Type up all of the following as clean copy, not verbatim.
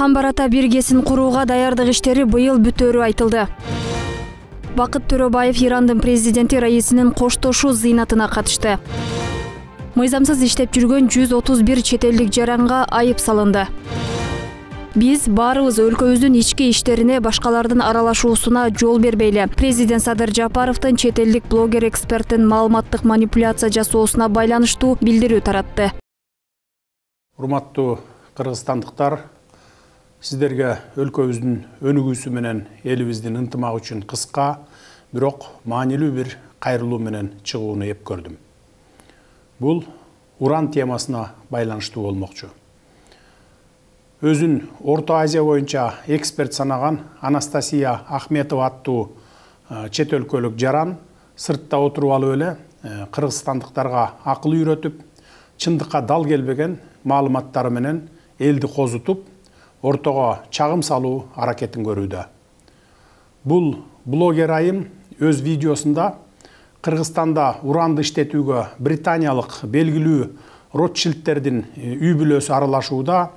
Камбар ата биргесин курууга даярдык иштери быйыл бүтөөрү айтылды. Бакыт Төрөбаев Ирандын президенти Раисинин коштошуу зыйнатына катышты. Мыйзамсыз иштеп жүргөн 131 чет элдик жаранга айып салынды. Биз баарыбыз өлкөбүздүн ички иштерине башкалардын аралашуусуна жол бербейли. Президент Садыр Жапаровдун чет элдик блогер эксперттин маалыматтык манипуляция жасоосуна байланыштуу билдирүү таратты. Урматтуу кыргызстандыктар, сиздерге өлкөбүздүн өнүгүүсү менен элибиздин ынтымагы үчүн кыска, бирок маанилүү бир кайрылуу менен чыгууну эп көрдүм. Бул уран темасына байланыштуу болмокчу. Өзүн Орто Азия боюнча эксперт санаган Анастасия Ахметова аттуу чет өлкөлүк жаран сыртта отуруп алып эле кыргызстандыктарга акыл үйрөтүп, чындыкка дал келбеген маалыматтары менен элди козутуп, ортого чагым салуу аракетин көрүүдө. Бул блогер айым өз видеосунда Кыргызстанда уранды иштетүүгө британиялык белгилүү Ротшильдтердин үй бүлөсү аралашууда,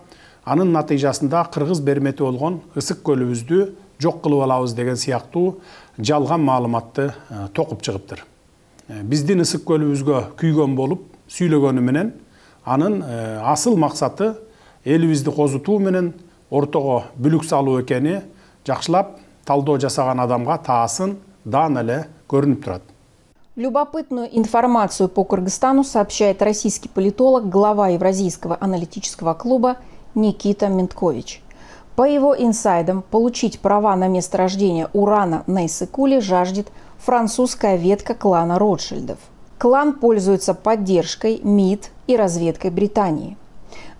анын натыйжасында кыргыз бермети болгон ысык көлүбүздү жок кылып алабыз деген сыяктуу жалган маалыматты токуп чыгыптыр. Биздин ысык көлүбүзгө күйгөн болуп сүйлөгөнү менен анын асыл максаты элибизди козутуу менен ортого бүлүк салуу экени жакшылап талдоо жасаган адамга таасын даана эле көрүнүп турат. Любопытную информацию по Кыргызстану сообщает российский политолог, глава Евразийского аналитического клуба Никита Менткович. По его инсайдам, получить права на месторождение урана на Иссык-Куле жаждет французская ветка клана Ротшильдов. Клан пользуется поддержкой МИД и разведкой Британии.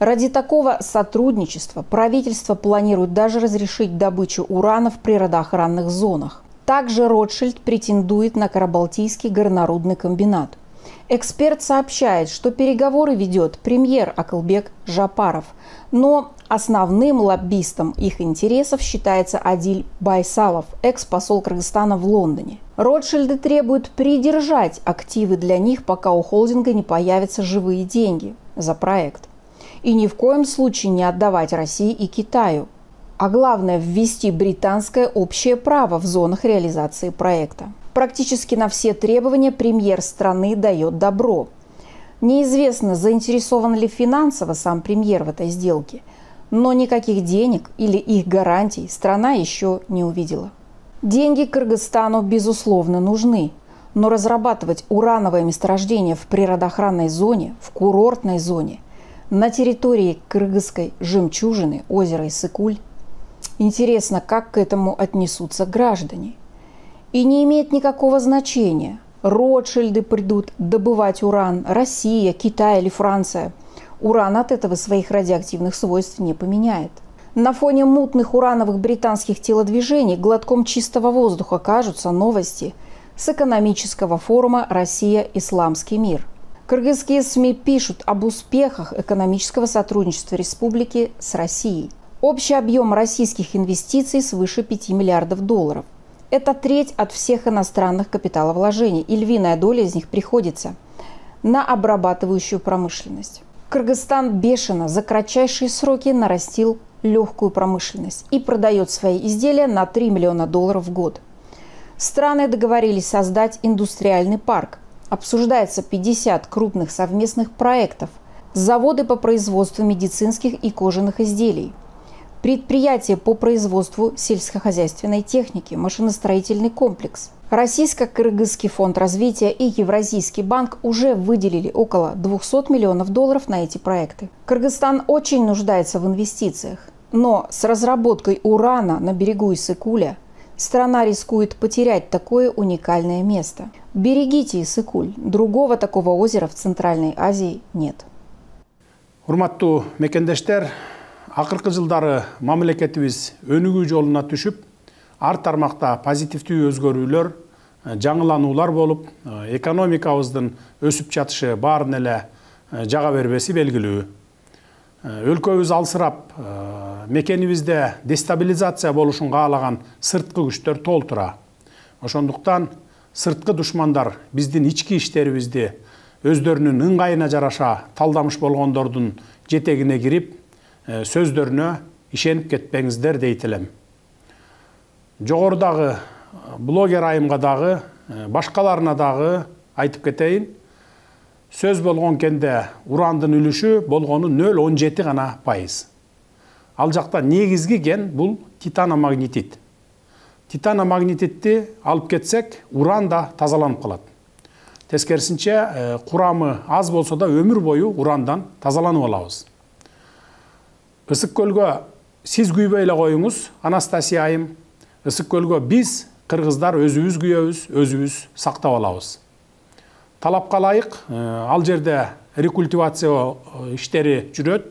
Ради такого сотрудничества правительство планирует даже разрешить добычу урана в природоохранных зонах. Также Ротшильд претендует на Карабалтийский горнорудный комбинат. Эксперт сообщает, что переговоры ведет премьер Акылбек Жапаров, но основным лоббистом их интересов считается Адиль Байсалов, экс-посол Кыргызстана в Лондоне. Ротшильды требуют придержать активы для них, пока у холдинга не появятся живые деньги за проект. И ни в коем случае не отдавать России и Китаю. А главное, ввести британское общее право в зонах реализации проекта. Практически на все требования премьер страны дает добро. Неизвестно, заинтересован ли финансово сам премьер в этой сделке, но никаких денег или их гарантий страна еще не увидела. Деньги Кыргызстану, безусловно, нужны, но разрабатывать урановое месторождение в природоохранной зоне, в курортной зоне, на территории кыргызской жемчужины, озера Иссык-Куль, интересно, как к этому отнесутся граждане. И не имеет никакого значения, Ротшильды придут добывать уран, Россия, Китай или Франция. Уран от этого своих радиоактивных свойств не поменяет. На фоне мутных урановых британских телодвижений глотком чистого воздуха кажутся новости с экономического форума «Россия. Исламский мир». Кыргызские СМИ пишут об успехах экономического сотрудничества республики с Россией. Общий объем российских инвестиций свыше 5 миллиардов долларов. Это треть от всех иностранных капиталовложений, и львиная доля из них приходится на обрабатывающую промышленность. Кыргызстан бешено за кратчайшие сроки нарастил легкую промышленность и продает свои изделия на 3 миллиона долларов в год. Страны договорились создать индустриальный парк. Обсуждается 50 крупных совместных проектов, заводы по производству медицинских и кожаных изделий, предприятия по производству сельскохозяйственной техники, машиностроительный комплекс. Российско-Кыргызский фонд развития и Евразийский банк уже выделили около 200 миллионов долларов на эти проекты. Кыргызстан очень нуждается в инвестициях, но с разработкой урана на берегу Иссык-Куля страна рискует потерять такое уникальное место. Берегите Иссык-Куль, другого такого озера в Центральной Азии нет. Урматтуу мекендештер, акыркы жылдары мамлекетибиз өнүгүү жолуна түшүп, ар тармакта позитивдүү өзгөрүүлөр, жаңылануулар болуп, экономикабыздын өсүп жатышы баарын эле жага бербеси белгилүү. Өлкөбүз алсырап, мекенибизде дестабилизация болушун каалаган сырткы күчтөр толтура. Ошондуктан сырткы душмандар биздин ички иштерибизди өздөрүнүн ыңгайына жараша талдамыш болгондордун жетегине кирип, сөздөрүнө ишенип кетпеңиздер дейт элем. Жогорудагы блогер айымга дагы, башкаларына дагы айтып кетейин. Сөз болгон кенде урандын үлүшү болгону 0,17 гана пайыз. Ал жакта негизги ген бул титаномагнетит. Титаномагнетитти алып кетсек, уран да тазаланып калат. Тескерисинче, курамы аз болсо да өмүр бою урандан тазаланып алабыз. Ысык көлгө сиз күйбөй эле коюңуз, Анастасия айым. Ысык көлгө биз кыргыздар өзүбүз күйөбүз, өзүбүз сактап алабыз. Талапка ылайык ал жерде рекультивация иштери жүрөт.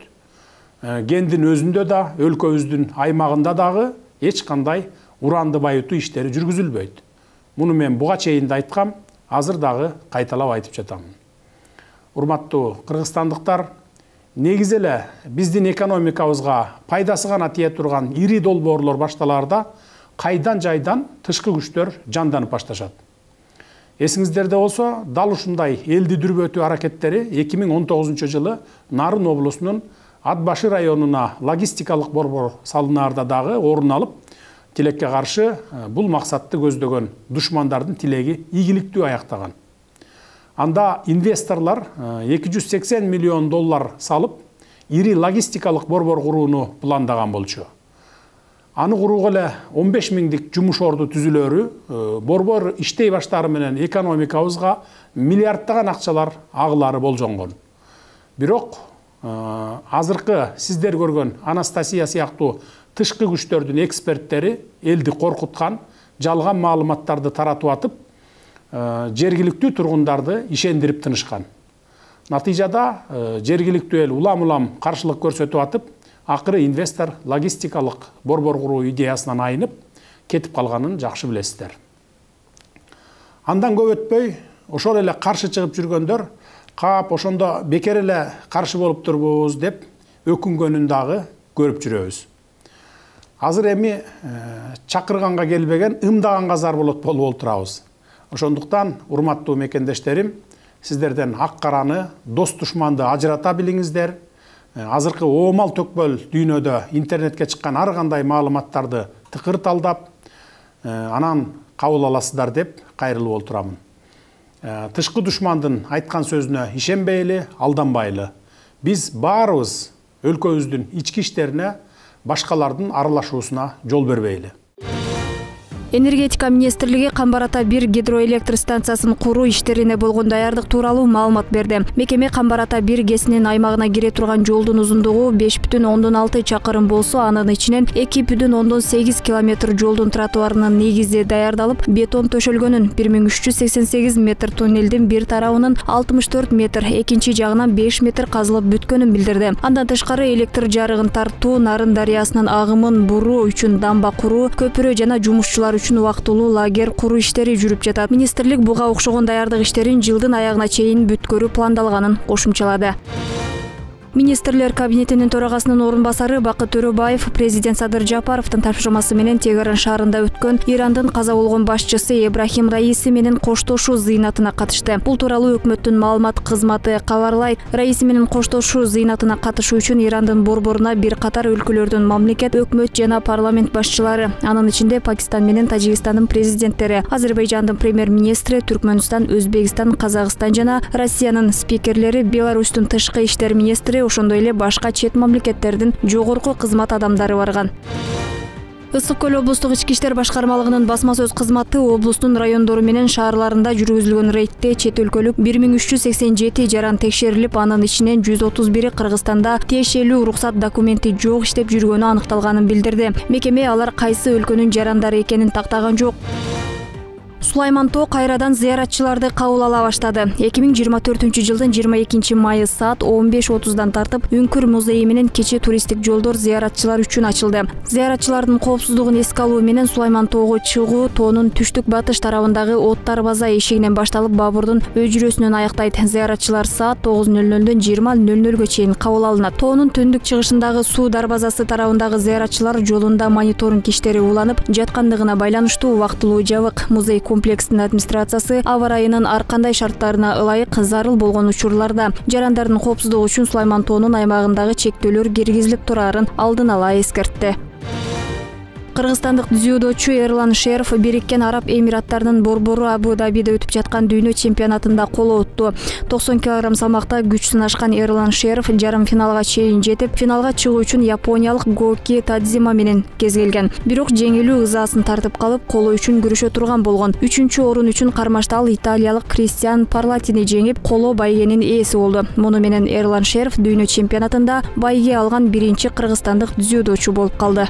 Кендин өзүндө да, өлкөбүздүн аймагында дагы эч кандай уранды байытуу иштери жүргүзүлбөйт. Муну мен буга чейин да айткам, азыр дагы кайталап айтып жатамын. Урматтуу кыргызстандыктар, негизи эле биздин экономикабызга пайдасы гана тие турган ири долбоорлор башталаарда кайдан жайдан тышкы күчтөр жанданып башташат. Эсиңиздерде болсо, дал ушундай элди дүрбөтүү аракеттери 2019 жылы Нарын облусунун Атбашы районуна логистикалык борбор салынаарда дагы орун алып, тилекке каршы бул максатты көздөгөн душмандардын тилеги ийгиликтүү аяктаган. Анда инвесторлор 280 миллион доллар салып, ири логистикалык борбор курууну пландаган болчу. Аны курууга эле 15 миңдик жумуш орду түзүлөрү, борбор иштей баштаары менен экономикабызга миллиарддаган акчалар агылары болжонгон. Бирок азыркы сиздер көргөн Анастасия сыяктуу тышкы күчтөрдүн эксперттери элди коркуткан, жалган маалыматтарды таратып атып, жергиликтүү тургундарды ишендирип тынышкан. Натыйжада жергиликтүү эл улам-улам каршылык көрсөтүп атып, акыры инвестор логистикалык борбор куруу идеясынан айнып кетип калганын жакшы билесиздер. Андан көп өтпөй, ошол эле каршы чыгып жүргөндөр кап ошондо бекер эле каршы болуп турбуз деп өкүнгөнүн дагы көрүп жүрөбүз. Азыр эми чакырганга келбеген ымдаганга зар болуп турабыз. Ошондуктан, урматтуу мекендештерим, сиздерден ак караны, дос душманды ажырата билиңиздер. Азыркы оомал төкпөл дүйнөдө интернетке чыккан ар кандай маалыматтарды тыкыр талдап, анан кабыл аласыздар деп кайрылып олтурамын. Тышкы душмандын айткан сөзүнө ишенбейли, алданбайлы. Биз баарыбыз өлкөбүздүн ички иштерине башкалардын аралашуусуна жол бербейли. Энергетика министрлиги Камбар-Ата 1 гидроэлектр станциясын куруу иштерине болгон даярдык тууралуу маалымат берди. Мекеме Камбар-Ата 1 ГЭСинин аймагына кире турган жолдун узундугу 5,6 чакырым болсо, анын ичинен 2,8 километр жолдун тротуарынын негизи даярдалып, бетон төшөлгөнүн, 1388 метр туннелдин бир тарабынын 64 метр, экинчи жагынан 5 метр казылып бүткөнүн билдирди. Андан тышкары электр жарыгын тартуу, Нарын дарыясынын агымын буруу үчүн дамба куруу, көпүрө жана жумушчулар үчүн убактылуу лагерь куруу иштери жүрүп жатат. Министрлик буга окшогон даярдык иштерин жылдын аягына чейин бүткөрүү пландалганын кошумчалады. Министрлер кабинетинин төрагасынын орун басары Бакыт Төрөбаев президент Садыр Жапаровдун тапшырмасы менен Тегеран шаарында өткөн Ирандын каза болгон башчысы Ибрахим Раиси менен коштошуу зыйнатына катышты. Бул тууралуу өкмөттүн маалымат кызматы кабарлайт. Раиси менен коштошуу зыйнатына катышуу үчүн Ирандын борборуна бир катар өлкөлөрдүн мамлекет, өкмөт жана парламент башчылары, анын ичинде Пакистан менен Тажикстандын президенттери, Азербайжандын премьер-министри, Түркмөнстан, Өзбекстан, Казакстан жана Россиянын спикерлери, Беларустун тышкы иштер министри, ошондой эле башка чет мамлекеттердин жогорку кызмат адамдары барган. Ысык көл облустук ички иштер башкармалыгынын басма сөз кызматы облустун райондору менен шаарларында жүргүзүлгөн рейдте чет өлкөлүк 1387 жаран текшерилип, анын ичинен 131 Кыргызстанда тиешелүү уруксат документи жок иштеп жүргөнү аныкталганын билдирди. Мекеме алар кайсы өлкөнүн жарандары экенин тактаган жок. Сулайман Тоо кайрадан зыяратчыларды кабыл ала баштады. 2024 жылдын 22 майы саат 15:30дан тартып, Үңкүр музейи менен кече туристтик жолдор зыяратчылар үчүн ачылды. Зыяратчылардын коопсуздугун эске алуу менен Сулайман Тоого чыгуу Тоонун түштүк батыш тарабындагы Оттар база эшигинен башталып, Бабурдун өжүрөсүнөн аяктайт. Зыяратчылар саат 9:00-дөн 20:00-гө чейин кабыл алынат. Тоонун түндүк чыгышындагы суу дарбазасы тарабындагы зыяратчылар жолунда мониторинг иштери уланып жаткандыгына байланыштуу убактылуу жабык. Музей комплекстин администрациясы аба ырайынын ар кандай шарттарына ылайык зарыл болгон учурларда жарандардын коопсуздугу үчүн Сулайман тоонун аймагындагы чектөөлөр киргизилип турарын алдын ала эскертти. Кыргызстандык дзюдочу Эрлан Шеров Бириккен Араб Эмираттарынын борбору Абу-Дабиде өтүп жаткан дүйнө чемпионатында коло утту. 90 кг салмакта күч сынашкан Эрлан Шеров жарым финалга чейин жетип, финалга чыгуу үчүн япониялык Гоки Тадзима менен кезгелген. Бирок жеңилүү ызасын тартып калып, коло үчүн күрөшө турган болгон. 3-орун үчүн кармашта ал италиялык Кристиан Парлатини жеңип, коло байгенин ээси болду. Муну менен Эрлан Шеров дүйнө чемпионатында байге алган биринчи кыргызстандык дзюдочу болуп калды.